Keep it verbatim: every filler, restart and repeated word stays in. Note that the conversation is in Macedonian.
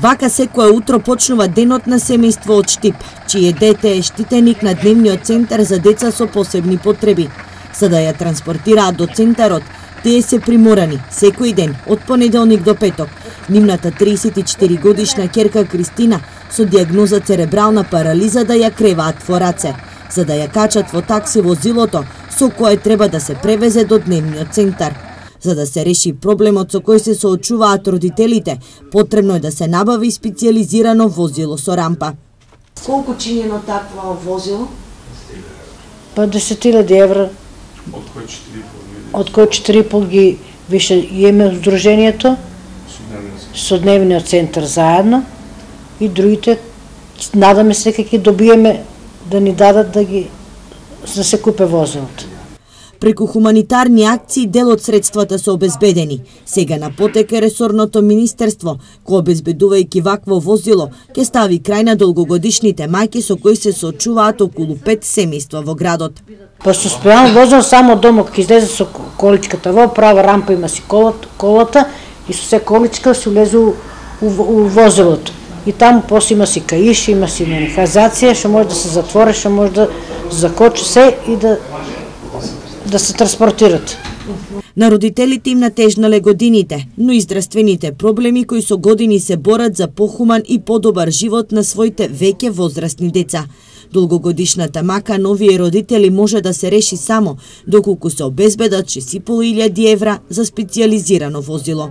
Вака секое утро почнува денот на семејство од Штип, чие дете е штитеник на дневниот центар за деца со посебни потреби. За да ја транспортираат до центарот, тие се приморани секој ден од понеделник до петок. Нивната триесет и четири годишна ќерка Кристина со дијагноза церебрална парализа да ја креваат во раце, за да ја качат во такси возилото со кое треба да се превезе до дневниот центар. За да се реши проблемот со кој се соочуваат родителите, потребно е да се набави специјализирано возило со рампа. Колку чинено такво возило? Па десет илјади евра. Од кој четири и пол ги више име здруженијето со дневниот центар заедно и другите надаме се дека ќе добиеме да ни дадат да ги да се купе возилото. Преку хуманитарни акции дел од средствата се обезбедени. Сега на потек е ресорното министерство, кој обезбедувајќи вакво возило, ќе стави крај на долгогодишните мајки со кои се соочуваат околу пет семејства во градот. Па со специјално возило само дома ќе излезе со количката во права рампа има си колата, колата и со се количка се улезе у, у, у возилото. И таму после има си каиш, има си механизација, што може да се затвори, што може да закочи се и да да се транспортират. На родителите им натежнале годините, но и здравствените проблеми кои со години се борат за похуман и подобар живот на своите веќе возрастни деца. Долгогодишната мака на овие родители може да се реши само доколку се обезбедат шест и пол илјади евра за специјализирано возило.